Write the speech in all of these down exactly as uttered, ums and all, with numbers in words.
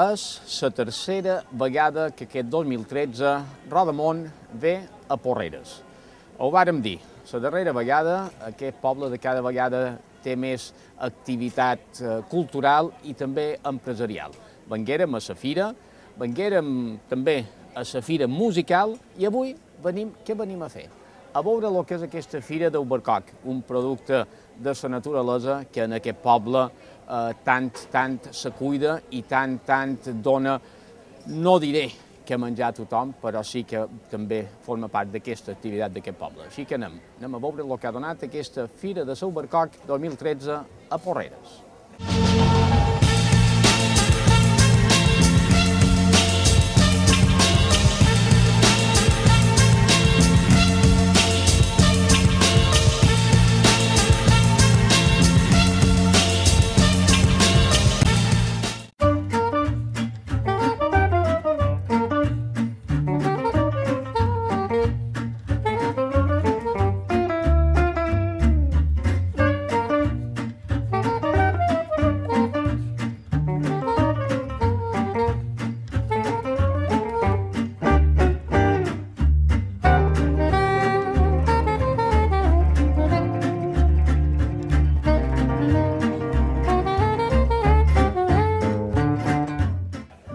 És la tercera vegada que aquest dos mil tretze Rodamont ve a Porreres. Ho vàrem dir, la darrera vegada aquest poble de cada vegada té més activitat cultural i també empresarial. Venguérem a la fira, venguérem també a la fira musical i avui venim, què venim a fer? A veure el que és aquesta fira d'Albercoc, un producte de la naturalesa que en aquest poble eh, tant, tant se cuida i tant, tant dona, no diré que menjar a tothom, però sí que també forma part d'aquesta activitat d'aquest poble. Així que anem, anem a veure el que ha donat aquesta fira de l'Albercoc dos mil tretze a Porreres.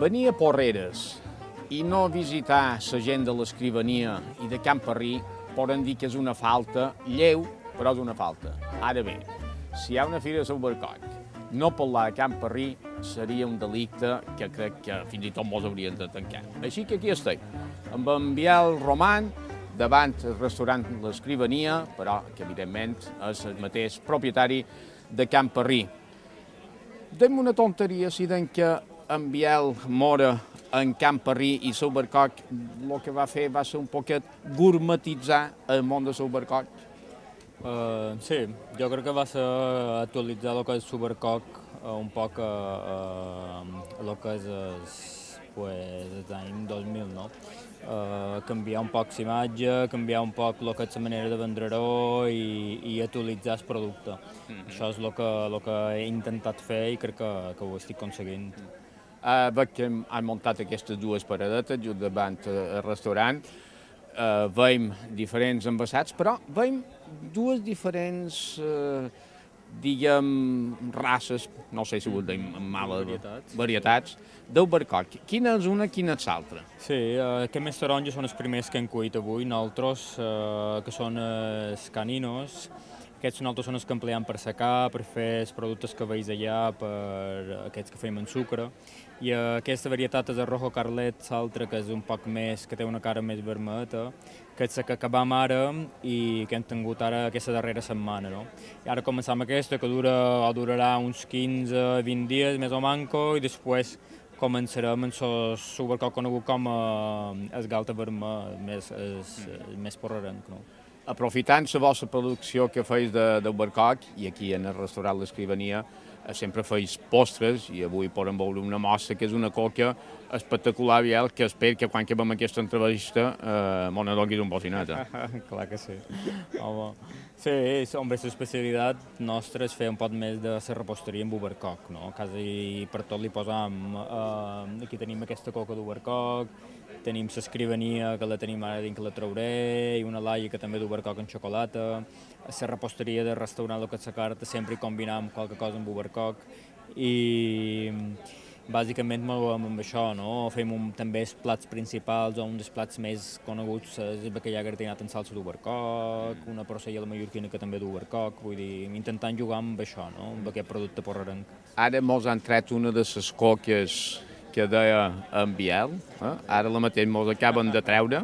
Venir a Porreres i no visitar la gent de l'Escrivania i de Can Parrí poden dir que és una falta lleu, però és una falta. Ara bé, si hi ha una fira de l'Albercoc, no parlar de Can Parrí seria un delicte que crec que fins i tot mos haurien de tancar. Així que aquí estic, amb en Biel Roman, davant el restaurant l'Escrivania, però que evidentment és el mateix propietari de Can Parrí. Dèiem una tonteria si deim que en Biel mora en Can Parrí i l'Albercoc el que va fer va ser un poquet gourmetitzar el món de l'Albercoc. Uh, sí, jo crec que va ser actualitzar el que és l'Albercoc uh, un poc a uh, uh, el que és el, pues, l'any dos mil, no? Uh, canviar un poc l'imatge, canviar un poc el que és la manera de vendre-ho i, i actualitzar el producte. Mm-hmm. Això és el que, el que he intentat fer i crec que, que ho estic aconseguint. Mm. Uh, veig que han muntat aquestes dues paradetes just davant el restaurant. Uh, veiem diferents envasats, però veiem dues diferents, uh, diguem, races, no sé si ho deim males varietats, varietats d'Albercoc. Quina és una, quina és l'altra? Sí, uh, aquests més taronges són els primers que hem cuit avui, nosaltres, uh, que són els caninos. Aquests nosaltres són els que empleem per secar, per fer els productes que veus allà, per aquests que fem en sucre. I aquesta varietat és el Rojo Carlet, l'altra que és un poc més, que té una cara més vermelleta, que és la que acabam ara i que hem tingut ara aquesta darrera setmana. No? I ara començam aquesta, que dura, o durarà uns quinze a vint dies, més o manco, i després començarem amb l'Albercoc conegut com el galta vermell, més, el, més porrerenc. No? Aprofitant la vostra producció que feis d'Albercoc, i aquí en el restaurant l'Escrivania, sempre feis postres, i avui podem veure una mostra que és una coca espectacular, Biel, que espero que quan acabem aquesta entrevista eh, m'ho donis un bocinat. Clar que sí. Home. Sí, hombre, l'especialitat nostra és fer un poc més de la reposteria amb Albercoc, no? Quasi per tot li posam, eh, aquí tenim aquesta coca d'Albercoc, tenim l'Escrivania, que la tenim ara dins que la trauré, i una laia que també d'Albercoc en xocolata, la reposteria del restaurant, el que és la carta, sempre hi combinam qualque cosa amb Albercoc, i bàsicament movem amb això, no? Fem un, també els plats principals, o un dels plats més coneguts és el bacallà gratinat en salsa d'Albercoc, una porcella de mallorquina que també d'Albercoc, vull dir, intentant jugar amb això, no? Amb aquest producte porrerenc. Ara mos han tret una de les coques que deia en Biel, eh? Ara la mateix mos acaben de treure.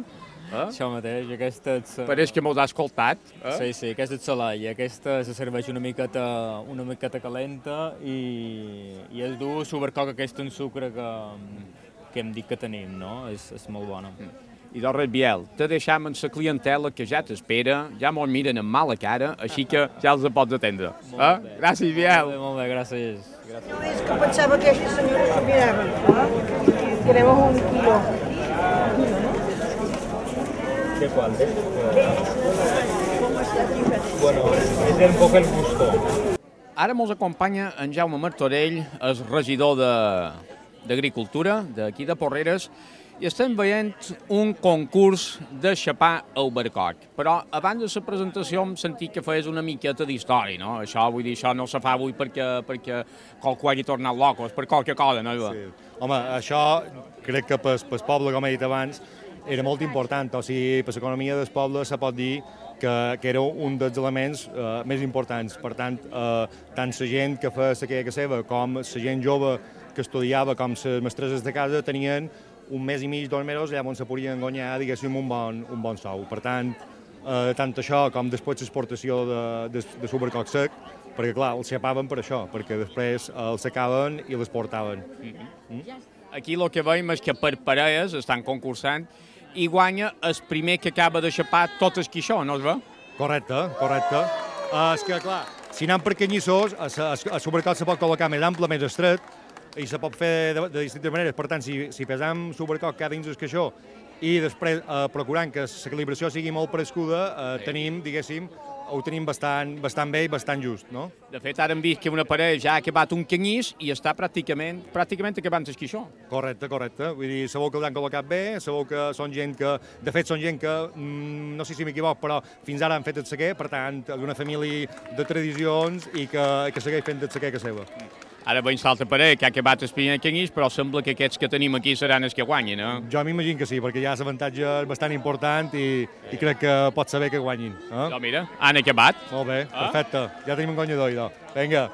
Eh? Això mateix, aquesta és... Pareix que mos ha escoltat. Eh? Sí, sí, aquesta és la laia, aquesta se serveix una miqueta, una miqueta calenta i, i és dur l'Albercoc aquest en sucre que, que hem dit que tenim, no? És, és molt bona. I doncs, Biel, te deixam amb la clientela que ja t'espera, ja mos miren amb mala cara, així que ja els pots atendre. Eh? Gràcies, Biel. Molt bé, molt bé, gràcies. gràcies. No és que pensava que aquestes senyores s'ho miraven. Eh? Queremos un kilo. ¿De cuál? Bueno, es un poco el gusto. Ara mos acompanya en Jaume Martorell, el regidor de, d'Agricultura, d'aquí de Porreres, i estem veient un concurs de xapar al barcoc. Però abans de la presentació hem sentit que feies una miqueta d'història, no? Això, vull dir, això no se fa avui perquè, perquè qualcú hagi tornat loco, és per qualque cosa, no? Sí. Home, això crec que pel, pel poble, com he dit abans, era molt important, o sigui, per l'economia del poble se pot dir que, que era un dels elements eh, més importants. Per tant, eh, tant la gent que feia la queca seva com la gent jove que estudiava, com les mestresses de casa, tenien un mes i mig, dos mesos, allà on se podien guanyar, diguéssim, un bon, un bon sou. Per tant, eh, tant això com després l'exportació de, de, de supercoc sec, perquè, clar, els xapaven per això, perquè després els secaven i les portaven. Mm-hmm. Mm? Aquí el que veiem és que per parelles estan concursant i guanya el primer que acaba de xapar tot el quixó, no es veu? Correcte, correcte. Uh, és que, clar, si anem per canyissós, el supercoc se pot col·locar més ample, més estret, i se pot fer de, de distintes maneres. Per tant, si, si pesam supercoc cada dins el caixó i després eh, procurant que la calibració sigui molt prescuda, eh, tenim, diguéssim, ho tenim bastant, bastant bé i bastant just, no? De fet, ara hem vist que una parella ja ha acabat un canyís i està pràcticament, pràcticament acabant el quixó. Correcte, correcte. Vull dir, sabeu que l'han col·locat bé, sabeu que són gent que, de fet, són gent que, mm, no sé si m'equivoc, però fins ara han fet el sequer, per tant, és una família de tradicions i que, que segueix fent el sequer que seva. Ara veig l'altra parella que ha acabat el primer canyís, però sembla que aquests que tenim aquí seran els que guanyin, no? Jo m'imagino que sí, perquè ja l'avantatge és bastant important i, i crec que pot saber que guanyin. Eh? No, mira, han acabat. Molt bé, ah? Perfecte. Ja tenim un guanyador, idò. Vinga.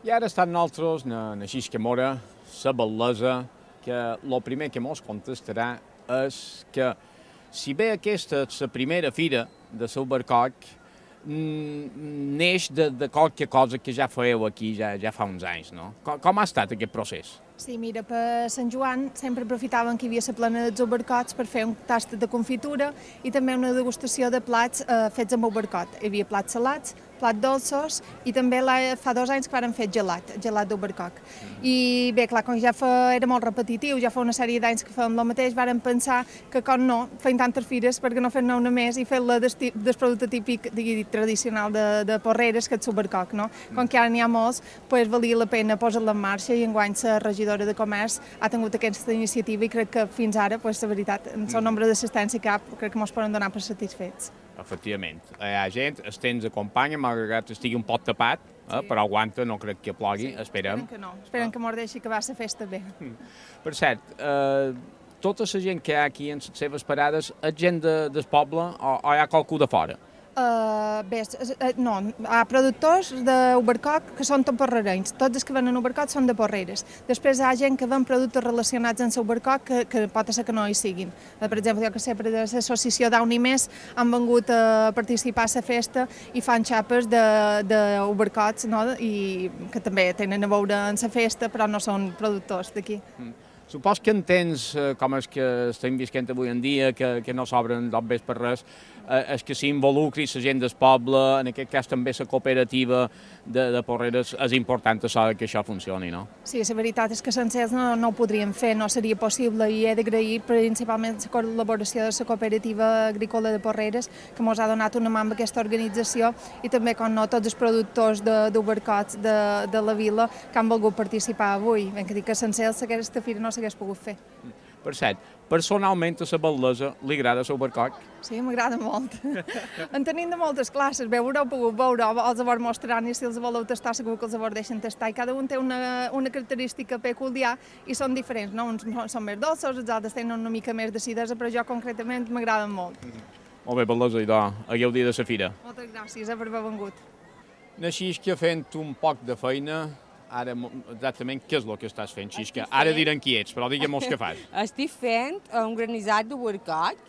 I ara estan nosaltres, na, na Xisca Mora, la bellesa, que el primer que mos contestarà és que si bé aquesta és la primera fira de l'Albercoc, neix de, de qualque cosa que ja fèieu aquí ja, ja fa uns anys, no? Com, com ha estat aquest procés? Sí, mira, per Sant Joan sempre aprofitaven que hi havia la plana dels albercots per fer un tast de confitura i també una degustació de plats eh, fets amb albercot. Hi havia plats salats, plats dolços i també la, fa dos anys que varen fer gelat, gelat d'albercoc. I bé, clar, com ja fa, era molt repetitiu, ja fa una sèrie d'anys que fèiem el mateix, varen pensar que com no, feien tantes fires, perquè no fer-ne una més i fer-la del, del producte típic, digui, tradicional de, de Porreres, que és l'albercoc, no? Com que ara n'hi ha molts, pues, valia la pena posar-la en marxa i enguany la regidora de Comerç ha tingut aquesta iniciativa i crec que fins ara, pues, la veritat, en el nombre d'assistència que hi ha, crec que ens poden donar per satisfets. Efectivament. Hi ha gent, el temps acompanya, malgrat que estigui un pot tapat, eh, sí. Però aguanta, no crec que plogui, sí, esperem. Esperen que no, esperen ah. que mos deixi acabar la festa bé. Per cert, eh, tota la gent que hi ha aquí en les seves parades, és gent de, del poble o, o hi ha qualcú de fora? Uh, bé, no, hi ha productors d'albercoc que són tot porrerenys, tots els que venen a Albercoc són de Porreres. Després hi ha gent que ven productes relacionats amb l'albercoc que, que pot ser que no hi siguin. Per exemple, jo que sé, per l'associació d'Aunimés han vengut a participar a la festa i fan xapes d'albercots, no? I que també tenen a veure en la festa, però no són productors d'aquí. Mm. Supos que entens, eh, com és que estem visquent avui en dia, que, que no s'obren dobbers per res, eh, és que s'involucri la gent del poble, en aquest cas també la cooperativa de, de Porreres, és important que això funcioni, no? Sí, la veritat és que sense ells no, no ho podríem fer, no seria possible i he d'agrair principalment la col·laboració de la cooperativa agrícola de Porreres, que ens ha donat una mà amb aquesta organització i també, com no, tots els productors d'albercots de, de, de la vila que han volgut participar avui. Ben que dic que sense ells aquesta fira no s'hagués pogut fer. Per cert, personalment a la bellesa li agrada l'albercoc? Sí, m'agrada molt. En tenim de moltes classes, bé, haureu pogut veure, els avors mostrant i si els voleu tastar segur que els avors deixen tastar i cada un té una, una característica peculiar i són diferents, no? Uns són més dolços, els altres tenen una mica més d'acidesa, però jo concretament m'agraden molt. Molt bé, bellesa, idò, hagueu dia de la fira. Moltes gràcies per haver vengut. Naixisca fent un poc de feina. Ara, exactament, què és el que estàs fent, Xisca? Ara diran qui ets, però digue'm què fas. Estic fent un granissat d'albercoc.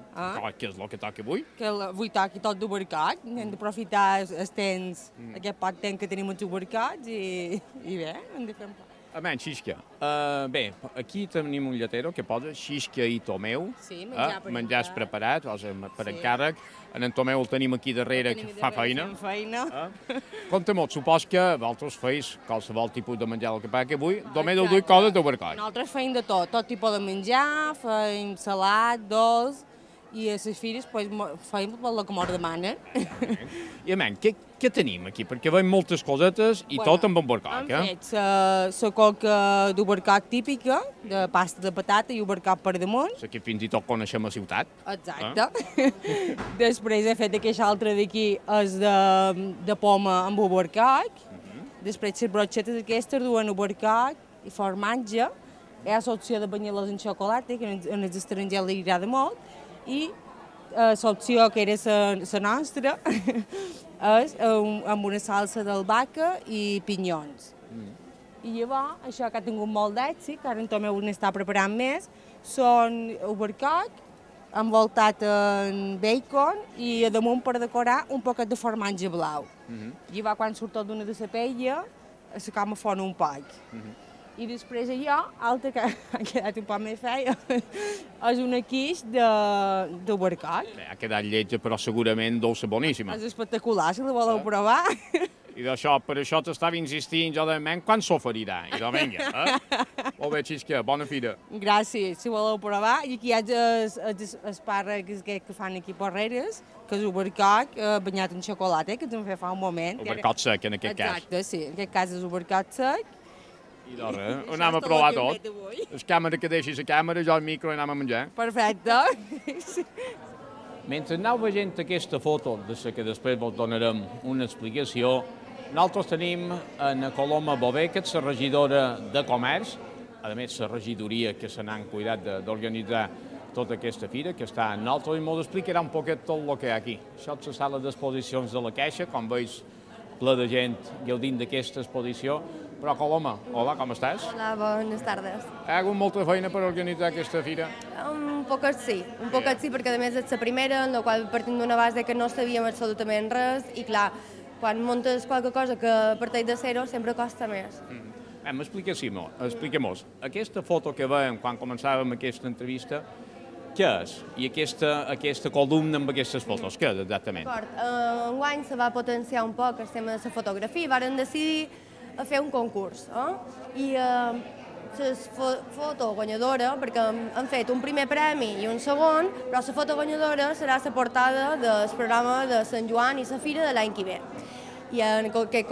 Eh? Què és el que toca avui? Que avui toca tot d'albercoc. Hem d'aprofitar el temps, mm. aquest poc temps que tenim els albercocs i, i bé, hem de fer un plat. A menys, Xisca. Uh, bé, aquí tenim un lletero que posa Xisca i Tomeu. Sí, menjar eh? per Menjars preparats, o sigui, per sí. encàrrec. En en Tomeu el tenim aquí darrere, que fa feina. feina. Eh? Compte-m'ho, supos que vosaltres feis qualsevol tipus de menjar el que passa que avui, només heu duit coses d'albercoc. Nosaltres feim de tot, tot tipus de menjar, feim salat, dolç, i a les fires pues, feim el que ens demanen. I, a què, què tenim aquí? Perquè veiem moltes cosetes i bueno, tot amb albercoc, eh? Hem fet la coca d'albercoc típica, de pasta de patata i albercoc per damunt. La que fins i tot coneixem a ciutat. Exacte. Eh? Després he fet aquesta altra d'aquí, és de, de poma amb albercoc. Uh -huh. Després les brochetes aquestes duen albercoc i formatge. Hi ha l'opció de banyar-les en xocolata, que en els estrangers li agrada molt. I l'opció que era la nostra és amb una salsa d'albahaca i pinyons. Mm. I llavors, això que ha tingut molt d'èxit, que ara en Tomeu n'està preparant més, són albercoc envoltat en bacon i a damunt per decorar un poquet de formatge blau. Mm -hmm. Llavors, quan surt tot d'una de la paella, se com a fon un poc. Mm -hmm. I després allò, altre que ha quedat un poc més feia, és una quiche d'albercoc. Ha quedat lletja, però segurament dolça boníssima. És espectacular, si la voleu provar. I d'això, per això t'estava insistint jo de ment, quan s'oferirà? I de vinga, eh? Molt bé, Xisca, bona fira. Gràcies, si voleu provar. I aquí hi ha els espàrrecs que fan aquí Porreres, que és albercoc banyat en xocolata, que ens en fa un moment. Albercoc sec, en aquest cas. Exacte, sí, en aquest cas és albercoc sec. I doncs, eh? Ho anem a provar tot. La càmera que deixi la càmera, jo el micro i anem a menjar. Perfecte. Mentre aneu veient aquesta foto, de la que després vos donarem una explicació, nosaltres tenim en Coloma Bové, que és la regidora de Comerç, a més la regidoria que se n'han cuidat d'organitzar tota aquesta fira, que està en nosaltres, i ens explicarà un poquet tot el que hi ha aquí. Això és la sala d'exposicions de la Caixa, com veus, ple de gent gaudint d'aquesta exposició. Però, Coloma, hola, com estàs? Hola, bones tardes. Hi ha hagut molta feina per organitzar aquesta fira? Un poquet sí, un poquet sí, perquè a més és la primera, en la qual partim d'una base que no sabíem absolutament res, i clar, quan muntes qualque cosa que parteix de zero sempre costa més. Mm. Expliquem-nos, aquesta foto que veiem quan començàvem aquesta entrevista, què és? I aquesta, aquesta columna amb aquestes fotos, què és exactament? D'acord, eh, enguany se va potenciar un poc el tema de la fotografia i varen decidir a fer un concurs. Eh? I eh, la fo foto guanyadora, perquè han fet un primer premi i un segon, però la foto guanyadora serà la portada del programa de Sant Joan i la Fira de l'any que ve. I en aquest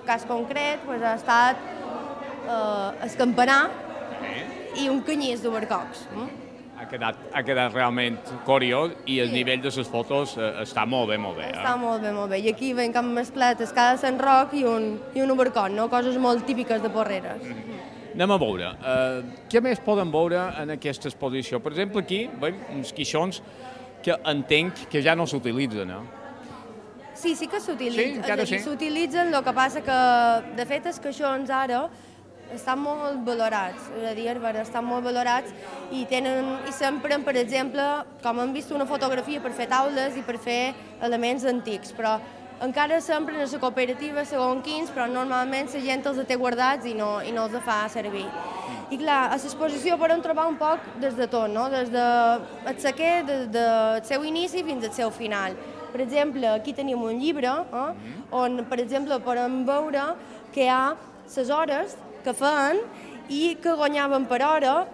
cas concret pues, ha estat eh, el campanar i un canyís d'albercocs. Eh? Ha quedat, ha quedat realment curiós i el sí. nivell de les fotos eh, està molt bé, molt bé. Eh? Està molt bé, molt bé. I aquí ven que han mesclat escada de Sant Roc i un, i un albercoc, no? Coses molt típiques de Porreres. Mm -hmm. Anem a veure. Uh, què més podem veure en aquesta exposició? Per exemple, aquí veiem uns quixons que entenc que ja no s'utilitzen, no? Sí, sí que s'utilitzen. Sí, encara sí? S'utilitzen, el que passa que, de fet, els queixons ara estan molt valorats, és a dir, estan molt valorats i tenen, i s'empren, per exemple, com hem vist, una fotografia per fer taules i per fer elements antics, però encara s'empren a la cooperativa segons quins, però normalment la gent els té guardats i no, i no els fa servir. I clar, a l'exposició podem trobar un poc des de tot, no? Des del sequer, des del seu inici fins al seu final. Per exemple, aquí tenim un llibre, eh, on, per exemple, podem veure que hi ha les hores que feien i que guanyaven per hora,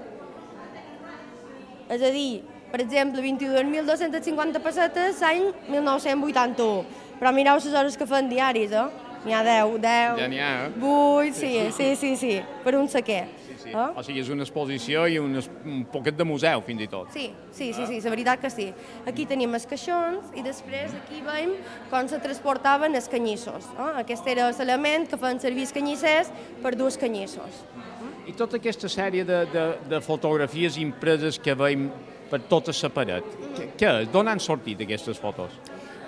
és a dir, per exemple, vint-i-dues mil dos-centes cinquanta pessetes l'any mil nou-cents vuitanta-u. Però mireu les hores que fan diaris, eh? N'hi ha deu, deu, ja n'hi ha, eh? vuit, sí, sí, sí, sí, per un sequer. Sí, sí. Eh? O sigui, és una exposició i un, un poquet de museu, fins i tot. Sí, sí, sí, sí, la veritat que sí. Aquí tenim els caixons i després aquí veiem com se transportaven els canyissos. Eh? Aquest era l'element que feien servir els canyissers per dur els canyissos. I tota aquesta sèrie de, de, de fotografies impreses que veiem per tota la paret, què és? D'on han sortit aquestes fotos?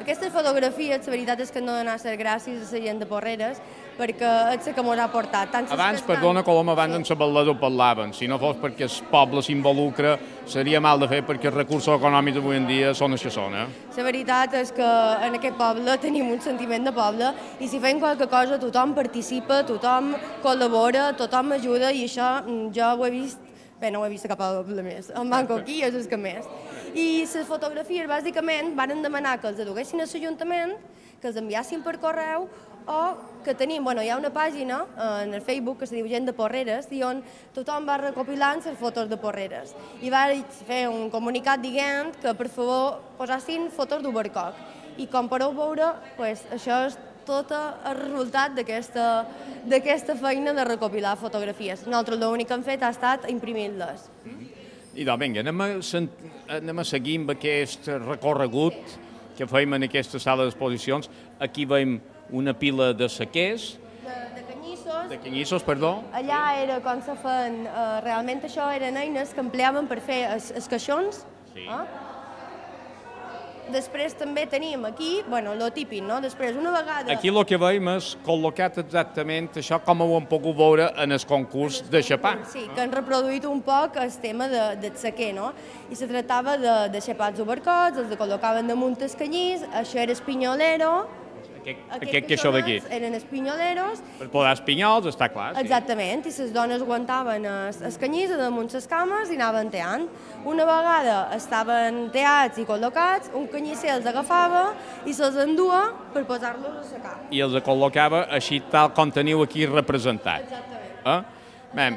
Aquestes fotografies, la veritat és que no donar les gràcies a la gent de Porreres, perquè és el que ens ha portat. Tant abans, perdona, Coloma, abans en la Ballador parlaven. Si no fos perquè el poble s'involucra, seria mal de fer perquè els recursos econòmics d'avui en dia són els que són. Eh? La veritat és que en aquest poble tenim un sentiment de poble i si fem qualque cosa tothom participa, tothom col·labora, tothom ajuda i això jo ho he vist, bé, no ho he vist a cap poble més, en Manco aquí és el que més. I les fotografies, bàsicament, van demanar que els aduguessin a l'Ajuntament, que els enviassin per correu o que tenim, bueno, hi ha una pàgina en el Facebook que se diu Gent de Porreres i on tothom va recopilant les fotos de Porreres. I vaig fer un comunicat dient que per favor posassin fotos d'Ubercoc. I com podeu veure, pues, això és tot el resultat d'aquesta feina de recopilar fotografies. Nosaltres l'únic que hem fet ha estat imprimir-les. I doncs, vinga, anem a, anem a seguir amb aquest recorregut que fèiem en aquesta sala d'exposicions. Aquí veiem una pila de sequers. De, de canyissos. De canyissos, perdó. Allà era com se feien, eh, realment això eren eines que empleaven per fer els, els caixons. Sí. Eh? Després també tenim aquí, bueno, lo típic, no? Després, una vegada... Aquí el que veiem és col·locat exactament això com ho hem pogut veure en el concurs de xapar. Sí, que han reproduït un poc el tema de, del sequer, no? I se tractava de, de xapats obercots, els col·locaven damunt el canyís, això era espinyolero. Aquest, aquest que això d'aquí. Eren espinyoleros. Per posar espinyols, està clar. Sí. Exactament, i les dones aguantaven el canyís damunt les cames i anaven teant. Una vegada estaven teats i col·locats, un canyisser els agafava i se'ls endua per posar-los a secar. I els col·locava així tal com teniu aquí representat. Exactament. Eh? Bé,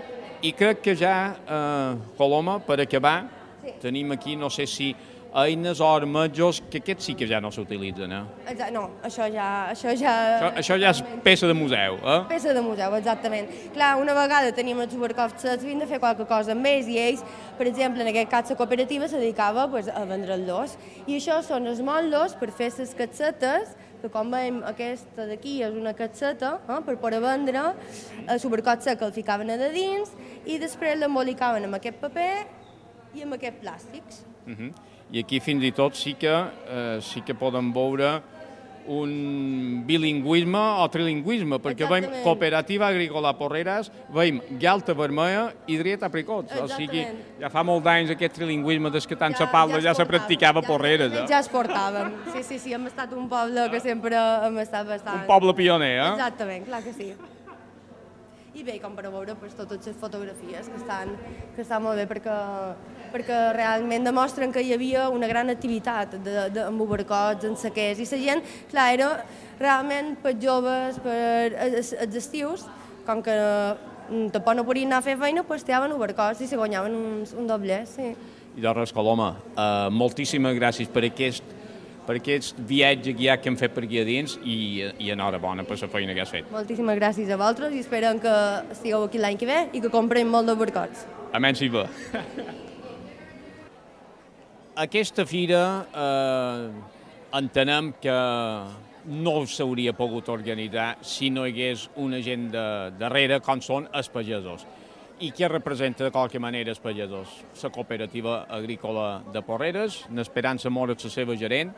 i crec que ja, eh, Coloma, per acabar, sí. Tenim aquí, no sé si eines o armetjos, que aquests sí que ja no s'utilitzen, eh? Exacte, no, això ja... Això ja, això, això ja és peça de museu, eh? Peça de museu, exactament. Clar, una vegada teníem els Ubercocs, havien de fer qualque cosa amb ells i ells, per exemple, en aquest cas la cooperativa se dedicava pues, a vendre'ls. I això són els motllos per fer les catsetes, que com veiem aquesta d'aquí és una catseta, eh, per poder vendre, el Ubercot sec el ficaven a de dins i després l'embolicaven amb aquest paper i amb aquests plàstics. Uh -huh. I aquí fins i tot sí que, eh, sí que poden veure un bilingüisme o trilingüisme, perquè Exactament. veiem Cooperativa Agrícola Porreres, veiem Galta Vermella i Driet Apricots. O sigui, ja fa molts anys aquest trilingüisme des que tant ja, se parla, ja, ja se practicava a Porreres. Ja, eh? ja es portàvem. Sí, sí, sí, hem estat un poble que sempre hem estat bastant... Un poble pioner, eh? Exactament, clar que sí. I bé, com per veure, pues, totes les fotografies que estan, que estan molt bé perquè, perquè realment demostren que hi havia una gran activitat de, de, amb Ubercots, en sequers, i la gent, clar, era realment per joves, per els, els estius, com que tampoc no podien anar a fer feina, pues teaven Ubercots i se guanyaven uns, un doble, sí. I doncs, Coloma, uh, moltíssimes gràcies per aquest per aquest viatge guiat que hem fet per aquí a dins i, i enhorabona per la feina que has fet. Moltíssimes gràcies a vosaltres i esperem que estigueu aquí l'any que ve i que comprem molt d'Ubercots. Amén si va. Aquesta fira eh, entenem que no s'hauria pogut organitzar si no hi hagués una gent de, darrere com són els pagesos. I què representa de qualque manera els pagesos? La cooperativa agrícola de Porreres, n'Esperança Mora, la seva gerent.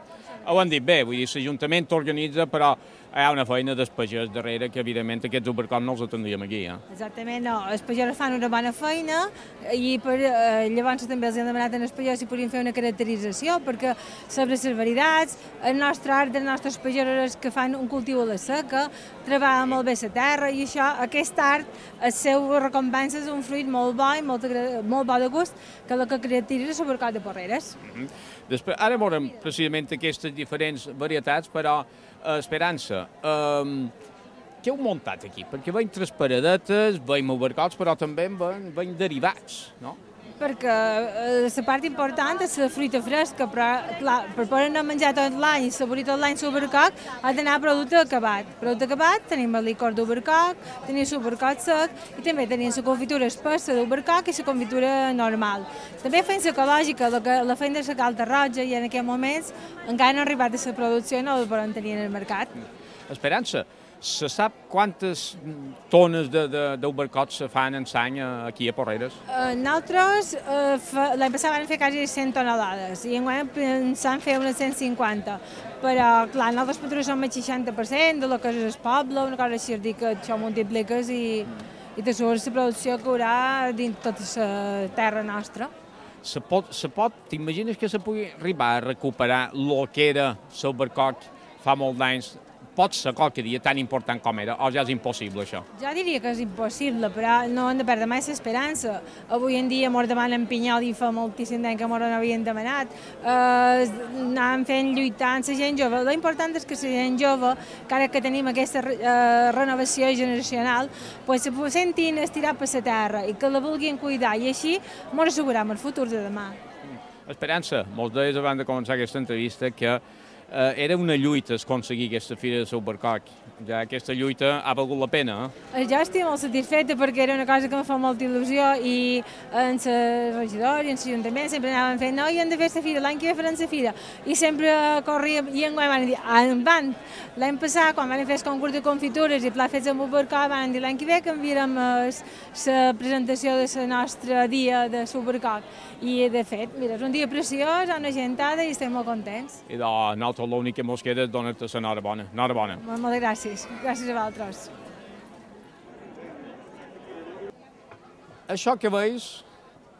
Ho han dit bé, vull dir, l'Ajuntament organitza, però hi ha una feina dels pagès darrere que, evidentment, aquests Ubercots no els atendríem aquí. Eh? Exactament, no. Els pagesos fan una bona feina i per, eh, llavors també els hem demanat als pagesos si podien fer una caracterització, perquè sobre les varietats, el nostre art dels nostres pagesos que fan un cultiu a la seca, treballen molt bé la terra i això, aquest art, el seu recompensa és un fruit molt bo i molt, molt bo de gust, que és el que caracteritza l'Ubercot de Porreres. Mm -hmm. Després, ara veurem precisament aquestes diferents varietats, però eh, Esperança, eh, què heu muntat aquí? Perquè veiem tres paradetes, veiem Ubercots, però també veiem, veiem derivats, no? Perquè eh, la part important és la fruita fresca, però clar, per poder no menjar tot l'any i saborir tot l'any l'Ubercoc ha d'anar a producte acabat. Producte acabat tenim el licor d'Ubercoc, tenim l'Ubercoc sec i també tenim la confitura espessa d'Ubercoc i la confitura normal. També fem l'ecològica, la, la fem de la calta roja i en aquests moments encara no ha arribat a la producció i no la podem tenir en el mercat. Esperança, se sap quantes tones d'Ubercots se fan en l'any aquí a Porreres? Uh, nosaltres uh, l'any passat vam fer quasi cent tonelades i enguany pensam fer unes cent cinquanta, però clar, nosaltres patrocinam el seixanta per cent de lo que és el poble, una cosa així, dir que això multipliques i, i te surts la producció que haurà dins tota la terra nostra. Se pot, se pot, t'imagines que se pugui arribar a recuperar el que era l'Ubercoc fa molts anys, pot ser qualque dia tan important com era, o ja és impossible això? Jo diria que és impossible, però no hem de perdre mai l'esperança. Avui en dia ens demanen pinyol i fa moltíssim temps que ens n'havien demanat. Eh, anàvem fent, lluitant, la gent jove. L'important és que la gent jove, encara que tenim aquesta eh, renovació generacional, pues, se sentin estirar per la terra i que la vulguin cuidar, i així ens assegurem el futur de demà. Esperança, molts deies abans de començar aquesta entrevista que eh, era una lluita aconseguir aquesta fira de Supercock. Ja aquesta lluita ha valgut la pena, eh? Jo estic molt satisfeta perquè era una cosa que em fa molta il·lusió i en el regidor i en l'Ajuntament sempre anaven fent no, i hem de fer la fira, l'any que ve farem la fira. I sempre corríem i enguany van dir, en van. L'any passat, quan van fer el concurs de confitures i plats fets amb Supercock, van dir l'any que ve canviarem la presentació de la nostra dia de Supercock. I de fet, mira, és un dia preciós, una gentada i estem molt contents. I de nosaltres l'únic que ens queda és donar-te l'enhorabona. Enhorabona. Moltes gràcies. Gràcies a vosaltres. Això que veus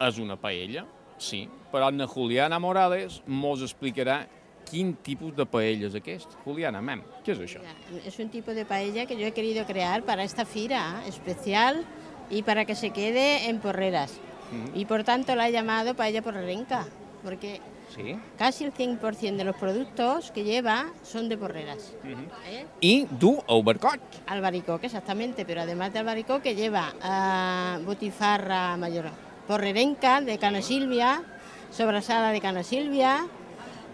és una paella, sí, però la Juliana Morales mos explicarà quin tipus de paella és aquest. Juliana, mem, què és això? Es un tipo de paella que yo he querido crear para esta fira especial y para que se quede en Porreras. Uh-huh. Y por tanto la he llamado paella porrerenca, porque ¿sí? Casi el cien por cien de los productos que lleva son de Porreras. Uh-huh. ¿Eh? Y du albaricoque. Albaricoque, exactamente, pero además de albaricoque lleva uh, botifarra mayor porrerenca de Cana Silvia, sobrasada de Cana Silvia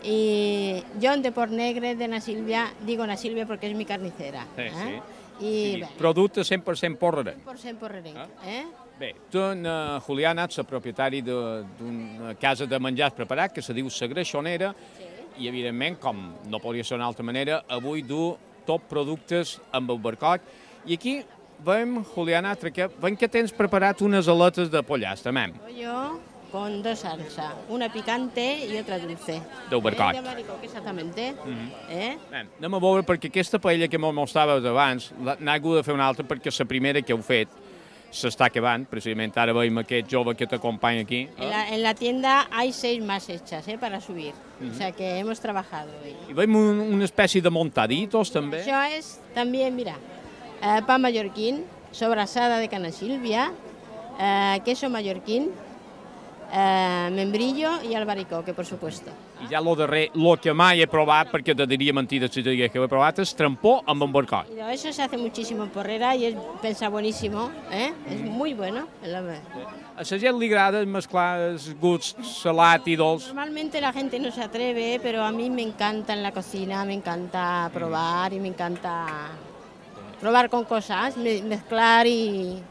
y John de Port Negre de Na Silvia, digo Na Silvia porque es mi carnicera. Sí, eh? sí. I, sí, producte cent per cent porrerenc. cent per cent porrerenc, eh? Bé, tu, uh, Juliana, ets la propietari d'una casa de menjars preparat que se diu La Greixonera, sí. I, evidentment, com no podria ser d'una altra manera, avui du tot productes amb albaricoc. I aquí veiem, Juliana, que, veiem que tens preparat unes aletes de pollastre, mem. Pollo con dos salsa, una picante y otra dulce. D'albaricoc. Eh, de albaricoc, exactamente. Mm-hmm. eh? Bé, anem a veure, perquè aquesta paella que m'ho mostraves abans, n'ha hagut de fer una altra perquè la primera que heu fet s'està acabant, precisament ara veiem aquest jove que t'acompanya aquí. En la, en la tienda hay seis más hechas eh, para subir, uh-huh. O sea que hemos trabajado. I veiem un, una espècie de montaditos també. Això és també, mira, eh, pan mallorquín, sobrasada de Cana Silvia, eh, queso mallorquín, eh, membrillo y albaricoque, por supuesto. I ja lo darrer, lo que mai he provat, perquè te diria mentida si te digués que ho he provat, és trampó amb albaricoc. Eso se hace muchísimo en Porrera y es, pensa buenísimo, ¿eh? Es muy bueno. La... A la gent li agrada mezclar els gusts salat i dolç. Normalmente la gente no se atreve, pero a mí me encanta en la cocina, me encanta probar y me encanta probar con cosas, mezclar y...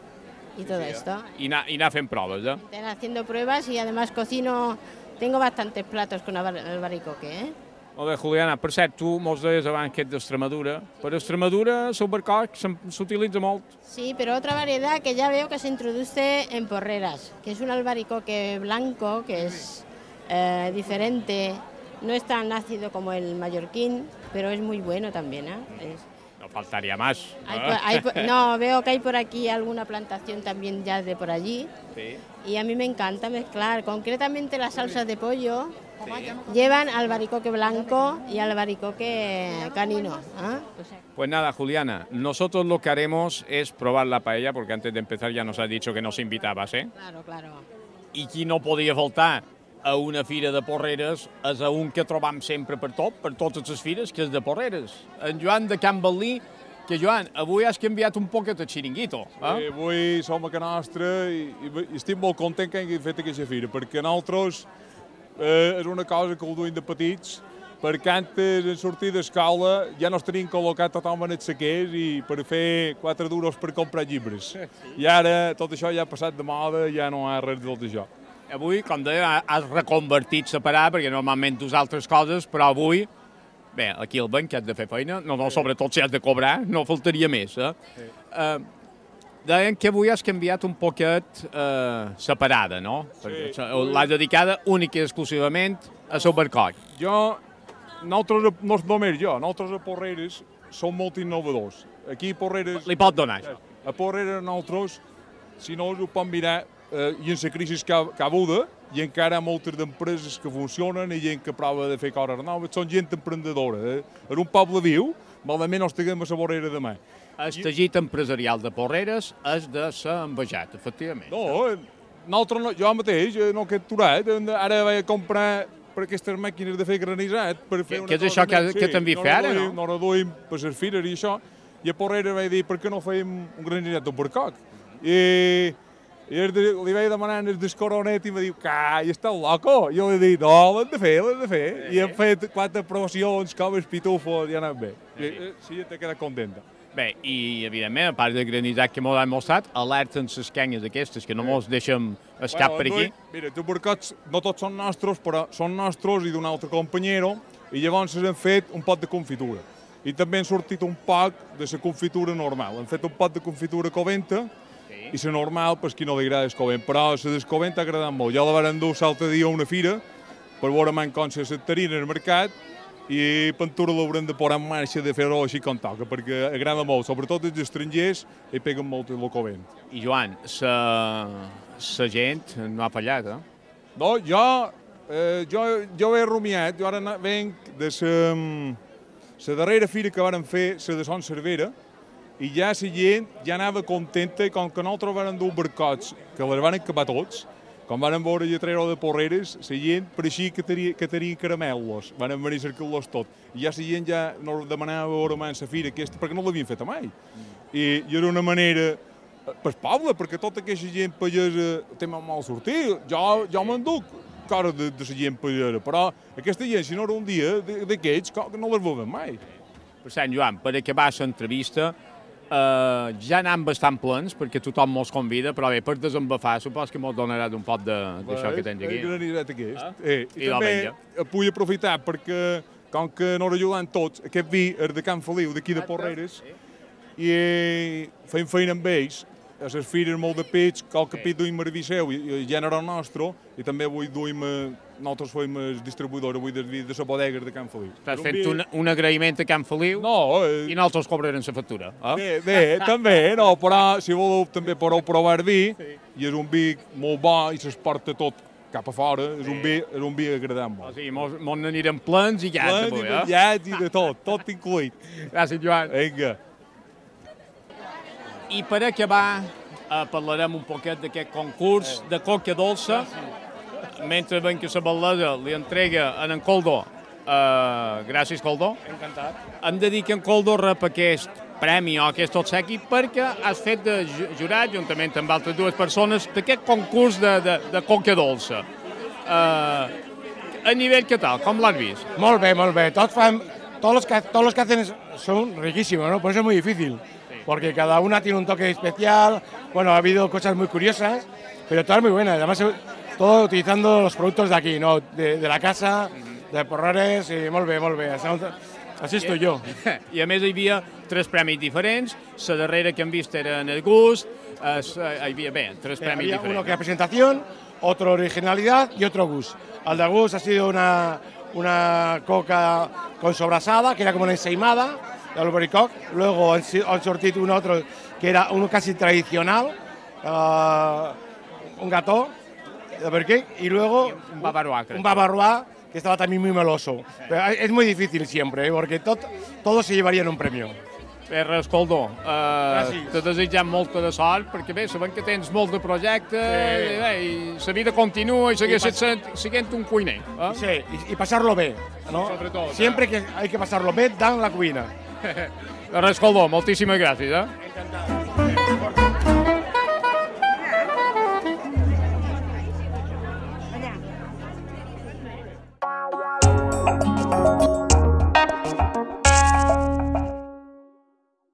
y todo sí, esto. Y anar, y anar fent proves, eh? Están haciendo pruebas y además cocino, tengo bastantes platos con albaricoque, eh? Molt bé, Juliana, per cert, tu mos deies abans que ets d'Extremadura. Per Extremadura, l'albaricoc s'utilitza molt. Sí, pero otra variedad que ya veo que se introduce en Porreras, que es un albaricoque blanco, que es eh, diferente, no es tan ácido como el mallorquín, pero es muy bueno también, ¿eh? Es... No faltaría más. Hay, hay, no, veo que hay por aquí alguna plantación también ya de por allí. Sí. Y a mí me encanta mezclar. Concretamente las salsas de pollo sí. Llevan albaricoque blanco y albaricoque canino. ¿eh? O sea, pues nada, Juliana, nosotros lo que haremos es probar la paella, porque antes de empezar ya nos has dicho que nos invitabas, ¿eh? Claro, claro. I qui no podia faltar a una fira de Porreres és a un que trobam sempre per tot, per totes les fires, que és de Porreres. En Joan de Can Balí, que Joan, avui has canviat un poquet el xiringuito. Eh? Sí, avui som a Can Nostra i, i estic molt content que hagi fet aquesta fira, perquè nosaltres eh, és una cosa que ho duim de petits, perquè antes en sortir d'escola ja nos tenim col·locat totalment els saquers i per fer quatre duros per comprar llibres. I ara tot això ja ha passat de moda, ja no hi ha res de tot això. Avui, com deia, has reconvertit separar, perquè normalment dus altres coses, però avui, bé, aquí al banc que has de fer feina, no, no, sobretot si has de cobrar, no faltaria més. Eh? Sí. Uh, deien que avui has canviat un poquet uh, separada, no? Sí. L'has dedicada única i exclusivament a l'albaricoc. Jo, nosaltres, no només jo, nosaltres a Porreres som molt innovadors. Aquí a Porreres... Li pot donar això? A Porreres nosaltres, si no us ho pot mirar, Eh, i en la crisi que ha, que ha avuda, i encara hi ha moltes d'empreses que funcionen i gent que prova de fer coses noves, són gent emprendedora. Eh? És un poble viu, malament no estiguem a la vorera demà. El teixit empresarial de Porreres és de ser envejat, efectivament. No, nosaltres no, jo mateix no he aturat, ara vaig a comprar per aquestes màquines de fer granissat per fer Que- una que és cosa això que- més. que també fer ara, no? No reduïm per les fires i això, i a Porreres vaig dir per què no fèiem un granissat d'Albercoc. I, i el de, li vaig demanar el descoronet i em va dir, calla, estàs loco? I jo li dic, no, l'hem de fer, l'hem de fer. I hem fet quatre promocions, com els pitufos, i ha anat bé. I, eh, sí, t'he quedat contenta. Bé, i evidentment, a part del granissat que m'ho han mostrat, alerten les canyes aquestes, que no mos deixem escap per aquí. Noi, mira, els albercocs no tots són nostres, però són nostres i d'un altre companyero, i llavors hem fet un pot de confitura. I també han sortit un poc de la confitura normal. Hem fet un pot de confitura coventa, i la normal, per qui no li agrada el covent, però la descovent ha agradat molt. Jo la van endur l'altre dia a una fira, per veure man com se sectarina al mercat, i Pentura l'haurem de posar en marxa de fer-ho així com toca, perquè agrada molt, sobretot els estrangers, i peguen molt el covent. I Joan, la gent no ha fallat, eh? No, jo, eh, jo, jo he rumiat, jo ara na- venc de la darrera fira que varen fer, la de Son Cervera, i ja la gent ja anava contenta, i com que nosaltres varen dur barcots, que les van acabar tots, com varen veure lletrero de Porreres, la gent pareixia que tenia, que tenia caramelos, van venir a cercar-los tot. I ja la gent ja no demanava veure mai la fira aquesta, perquè no l'havien fet mai. I, I era una manera pel poble, perquè tota aquesta gent pagesa té molt mal sortir. Jo, jo m'enduc cara de, de la gent pagesa, però aquesta gent, si no era un dia d'aquests, no les veuen mai. Per Sant Joan, per acabar l'entrevista, Uh, ja anem bastant plens, perquè tothom mos convida, però bé, per desembafar, supos que mos donarà un pot d'això que tens aquí. El granissat aquest. Ah? Eh, I, I la també menja. vull aprofitar perquè, com que no ajudant tots, aquest vi és de Can Feliu, d'aquí de Porreres, i eh, feim feina amb ells, a les fires molt de peix, qualque pit duim a Viseu, i el gènere nostre, i també avui duim, nosaltres fem el distribuïdor avui del vi de la bodega de Can Feliu. Estàs fent un, un agraïment a Can Feliu no, eh, i nosaltres cobrarem la factura. Eh? Bé, bé, també, no, però si voleu també podeu provar vi, i és un vi molt bo i s'exporta tot cap a fora, és un vi, és un vi agradant O molt. sigui, mos, mos n'anirem plens i ja Plens avui, i eh? menjats i de tot, tot incluït. Gràcies, Joan. Vinga. I per acabar, eh, parlarem un poquet d'aquest concurs de coca dolça, mentre ben que la bellesa li entrega a en Coldo. Uh, gràcies, Coldo. Encantat. Hem de dir que en Coldo rep aquest premi o aquest obsequi perquè has fet de ju- jurat, juntament amb altres dues persones, d'aquest concurs de, de, de coca dolça. Uh, a nivell què tal? Com l'has vist? Molt bé, molt bé. Tots fan, todos los que, todos los que hacen es- son riquísimos, ¿no? Por eso es muy difícil. Porque cada una tiene un toque especial. Bueno, ha habido cosas muy curiosas, pero todas muy buenas. Además, todo utilizando los productos de aquí, ¿no? De, de la casa, de Porreres, i molt bé, molt bé. Així estoy yo. I a més hi havia tres premis diferents, la darrera que hem vist era en el gust, es, hi havia, bé, tres premis Había diferents. uno que era presentación, otro originalidad y otro gus. Al de gus ha sido una, una coca con sobrasada, que era como una ensaimada, de albaricoc. Luego han, si- han sortido un otro que era uno casi tradicional, uh, un gató de Berquí, y luego Un bavarois, creo. un bavarois que estaba también muy meloso. Pero es muy difícil siempre, ¿eh? Porque tot, todos se llevarían un premio. Bé, res, Coldo, uh, Gràcies. te desitgem molta de sort, perquè bé, sabem que tens molts de projectes, Sí. i, bé, i la vida continua i segueix I pas- sent, sent un cuiner. Eh? Sí, y, y pasarlo bien, ¿no? Sobre todo, Siempre que hay que pasarlo bien, dan la cuina. Res, Coldo, moltíssimes gràcies. Eh? Encantado.